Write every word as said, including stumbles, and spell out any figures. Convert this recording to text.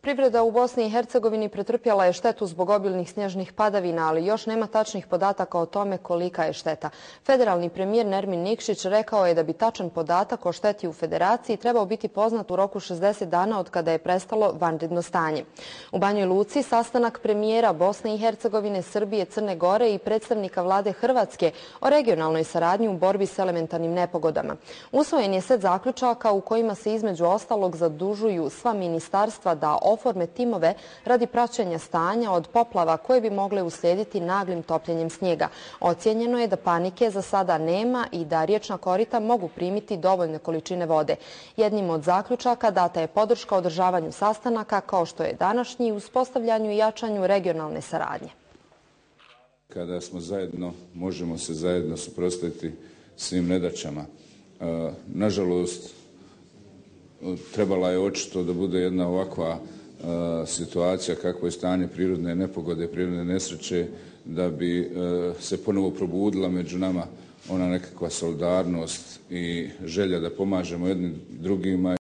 Privreda u Bosni i Hercegovini pretrpjela je štetu zbog obilnih snježnih padavina, ali još nema tačnih podataka o tome kolika je šteta. Federalni premijer Nermin Nikšić rekao je da bi tačan podatak o šteti u Federaciji trebao biti poznat u roku šezdeset dana od kada je prestalo vanredno stanje. U Banjoj Luci sastanak premijera Bosne i Hercegovine, Srbije, Crne Gore i predstavnika vlade Hrvatske o regionalnoj saradnji u borbi s elementarnim nepogodama. Usvojen je set zaključaka u kojima se između ostalog zadužuju sva ministarstva da oforme timove radi praćenja stanja od poplava koje bi mogle uslijediti naglim topljenjem snijega. Ocijenjeno je da panike za sada nema i da riječna korita mogu primiti dovoljne količine vode. Jednim od zaključaka data je podrška održavanju sastanaka kao što je današnji, uspostavljanju i jačanju regionalne saradnje. Kada smo zajedno, možemo se zajedno suprotstaviti svim nedaćama. Nažalost, trebala je očito da bude jedna ovakva situacija kakvo je stanje prirodne nepogode, prirodne nesreće, da bi se ponovo probudila među nama ona nekakva solidarnost i želja da pomažemo jednim drugima.